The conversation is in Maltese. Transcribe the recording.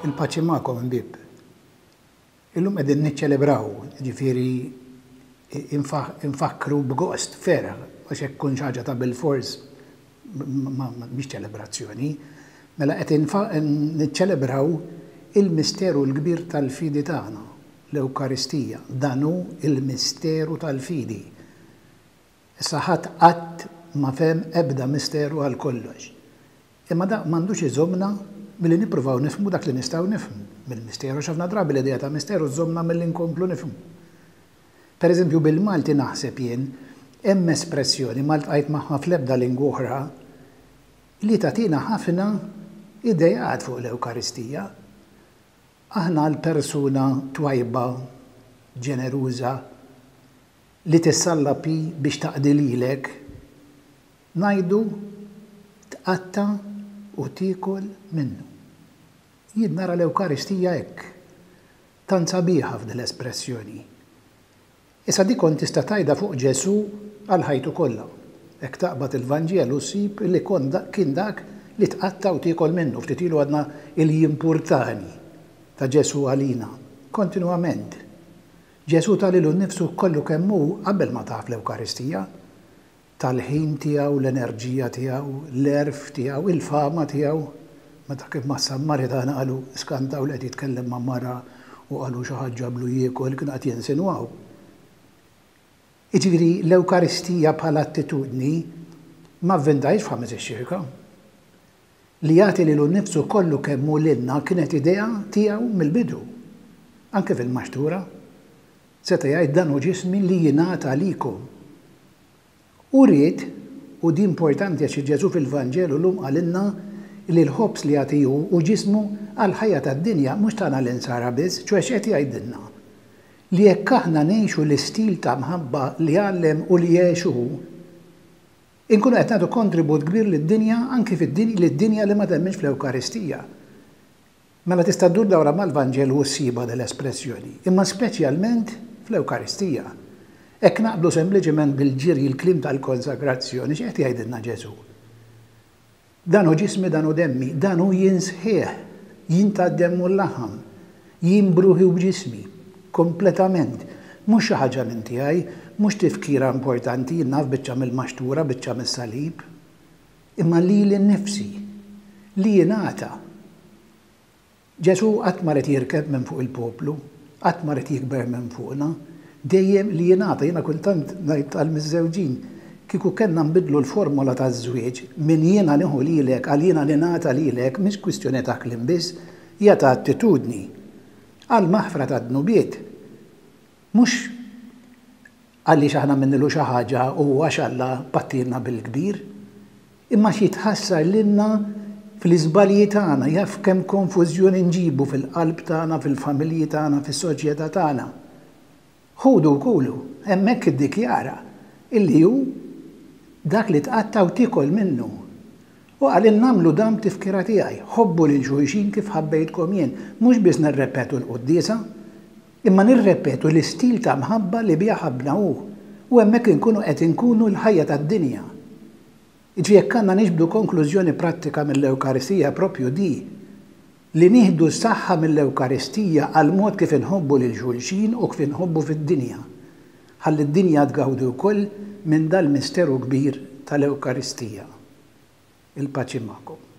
Il-paċi magħkom ħbieb. Illum qegħdin niċċelebraw, jiġifieri infakkru b'gost, ferħ, għax jekk tkun xi ħaġa ta' bilfors mhix ċelebrazzjoni. Mela qed niċċelebraw il-misteru l-kbir tal-fidi tagħna, l-Ewkaristija. Dan hu l-misteru tal-fidi. Issa ħadd qatt ma fehem ebda misteru għal kollox. Imma dak m'għandux iżommna milli nippruvaw nifhmu dak li nistgħu nifhmu mill-misteru għax ħafna drabi l-idea ta' misteru żżommna milli nkomplu nifhmu. Per eżempju bil-Malti naħseb jien hemm espressjoni ma ltqajt magħha fl-ebda lingwa oħra li tagħtina ħafna ideat fuq l-Ewkaristija. Aħna l-persuna twajba, ġeneruża, li tissallab hi biex taqdi lilek, ngħidu tqatta' u tiekol minnu. Jien nara l-Ewkaristija hekk. Tant sabiħa f'din l-espressjoni. Issa dik kont tista' tgħidha fuq Ġesù għal ħajtu kollha. Hekk taqbad il-Vanġelu ssib li kont kien dak li tqatta' u tiekol minnu. Ftit ilu għadna il-jimpurtani ta' Ġesù għalina. Kontinwament. Ġesù ta lilu nnifsu kollu kemm hu qabel ma taf l-Ewkaristija. Ta l-ħin tiegħu, l-enerġija tiegħu, l-għerf tiegħu, il-fama tiegħu. Meta kien mas-Sammaritana qalu skantaw li qed jitkellem ma' mara u qalu xi ħadd ġablu jiekol, kienu qed jinsinwaw. Jiġifieri l-Ewkaristija bħala attitudni ma vvintahiex f'Ħames ix-Xirka. Li jagħti lilu nnifsu kollu kemm hu lilna kienet idea tiegħu mill-bidu. Anke fil-maxtura. Seta' jgħid dan hu ġismi li jingħata għalikom. Hu ried, u di importanti għax Ġesù fil-Vanġelu llum qalilna li l-ħobż li jagħti hu, hu ġismu għall-ħajja tad-dinja, mhux tagħna l-insara biss, ċoe x'qed jgħidilna? Li jekk aħna ngħixu l-istil ta' mħabba li għallem u li għex hu, Inkunu qed nagħtu kontribut kbir lid-dinja, anki lid-dinja li ma temminx fl-Ewkaristija. Mela tista' ddur dawra mal-Vanġelu u ssibha din l-espressjoni, imma speċjalment fl-Ewkaristija. Hekk naqblu sempliċement bil-ġiri l-kliem tal-konsagrazzjoni, x'qed jgħidilna Ġesù? Dan hu ġismi, dan hu demmi, dan hu jien sħiħ, jien tad-demm u l-laħam, jien b'ruħi u b'ġismi, kompletament. Mhux xi ħaġa minn tiegħi, mhux tifkira importanti, jien naf biċċa mill-maxtura, biċċa mis-salib, imma lili nnifsi, li jingħata. Ġesù qatt ma ried jirkeb minn fuq il-poplu, qatt ma ried jikber minn fuqna, dejjem li jingħata. Jiena kultant ngħid għall-miżżewġin, kieku kellna nbiddlu l-formola taż-żwieġ minn jiena nieħu lilek għal jiena ningħata lilek, mhix kwistjoni ta' kliem biss, hija ta' attitudni. Għall-maħfra tad-dnubiet. Mhux għaliex aħna għamilnilu xi ħaġa u għax Alla pattielna bil-kbir, imma għax jitħassar lilna fl-iżbalji tagħna, jaf kemm konfużjoni nġibu fil-qalb tagħna, fil-familji tagħna, fis-soċjetà tagħna. Ħudu u kulu, hemmhekk iddikjara illi hu dak li tqatta' u tiekol minnu. U qalilna agħmlu dan b'tifkira tiegħi, ħobbu lil xulxin kif ħabbejtkom jien, mhux biss nirrepetu l-quddiesa, Imma nirrepetu l-istil ta' mħabba li biha ħabbna hu, u hemmhekk inkunu qed inkunu l-ħajja tad-dinja. Jiġifieri jekk għandna niġbdu konklużjoni prattika mill-Ewkaristija proprju di, li nieħdu s-saħħa mill-Ewkaristija għall-mod kif inħobbu lil xulxin u kif inħobbu fid-dinja. Ħalli d-dinja tgawdi wkoll minn dal-misteru kbir tal-Ewkaristija. Il-paċi magħkom.